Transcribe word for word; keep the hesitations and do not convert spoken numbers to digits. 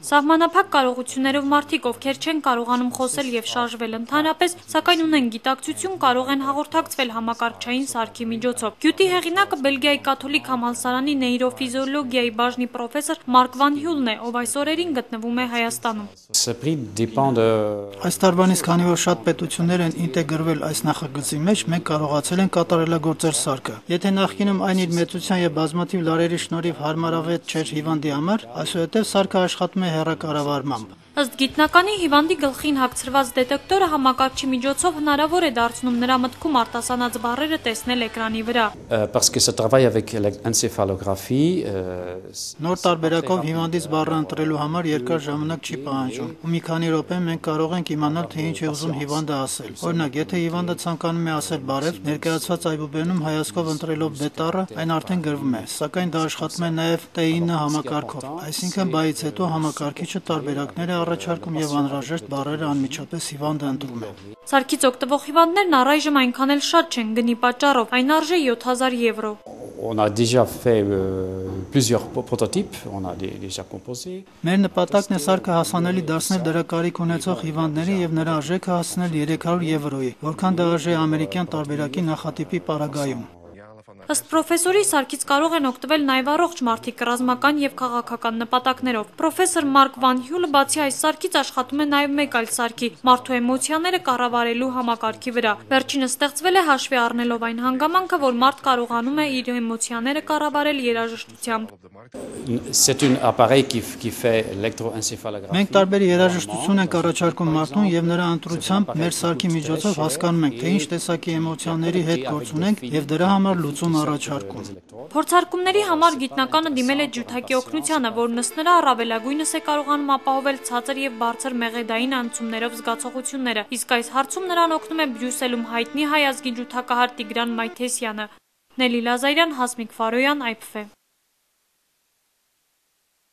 Սահմանափակ կարողություններով մարդիկ, ովքեր չեն կարողանում խոսել եւ շարժվել ընդհանրապես, սակայն ունեն գիտակցություն, կարող են հաղորդակցվել համակարգչային սարքի միջոցով։ Գյուտի հեղինակը Բելգիայի կաթոլիկ համալսարանի նեյրոֆիզիոլոգիայի բաժնի պրոֆեսոր Մարկ Վան Հյուլն է, ով այս օրերին գտնվում է Հայաստանում։ Այս տարվանից, քանի որ շատ պետություններ են ինտեգրվել այս նախագծի մեջ, մենք կարողացել ենք կատարելագործել սարքը։ Եթե նախկինում այն իր մեծության եւ բազմաթիվ լարերի շնորհիվ հարմարավետ չէր հիվանդի համար, այսուհետև սարքը աշխատում է հեռակառավարմամբ։ Ըստ գիտնականի, հիվանդի գլխին հագցրված դետեկտորը համակարգչի միջոցով հնարավոր է դարձնում նրա մտքում արտասանած բառերը տեսնել էկրանի վրա։ Նոր տարբերակով հիվանդից բառը ընտրելու համար երկար ժամանակ չի պահանջում, ու մի քանի րոպե մենք կարող ենք իմանալ, թե ինչ է ուզում հիվանդը ասել։ Օրինակ, եթե հիվանդը ցանկանում է ասել բարև, ներկայացված այբուբենում հայացքով ընտրելով դե տառը, այն արդեն գրվում է, սակայն դա աշխատում է նաև T ինը համակարգով, այսինքն բայից հետո համակարգիչը տարբերակներ է առաջարկում եւ անհրաժեշտ բառերը անմիջապես հիվանդը ընտրում է։ Սարքից օգտվող հիվանդներն առայժմ այնքան էլ շատ չեն գնի պատճառով, այն արժե յոթ հազար եվրո։ Մեր նպատակն է սարքը հասանելի դարձնել դրա կարիք ունեցող հիվանդների եւ նրա արժեքը հասնել երեք հարյուր եվրոյի, որքան դա արժե ամերիկյան տարբերակի նախատիպի պարագայում։ Ըստ պրոֆեսորի, սարքից կարող են օգտվել նաև առողջ մարդիկ ռազմական եւ քաղաքական նպատակներով։ Պրոֆեսոր Մարկ Վան Հյուլը բացի այս սարքից աշխատում է նաև մեկ այլ սարքի՝ մարդու էմոցիաները կառավարելու համակարգի վրա։ Վերջինը ստեղծվել է հաշվի առնելով այն հանգամանքը, որ մարդ կարողանում է իր էմոցիաները կառավարել երաժշտությամբ։ Մենք տարբեր երաժշտություն ենք առաջարկում մարդուն եւ նրա ընտրությամբ մեր սարքի միջոցով հասկանում ենք, թե ինչ տեսակի էմոցիաների հետ գործ ունենք եւ դրա համար լուծում առաջարկում։ Փորձարկումների համար գիտնականը դիմել է ջութակի օգնությանը, որն ըստ նրա առավելագույնս է կարողանում ապահովել ցածր եւ բարձր մեղեդային անցումներով զգացողությունները, իսկ այս հարցում նրան օգնում է Բրյուսելում հայտնի հայ ազգի ջութակահար Տիգրան Մայթեսյանը։ Նելի Լազարյան, Հասմիկ Ֆարոյան, Այ Փ Ֆ։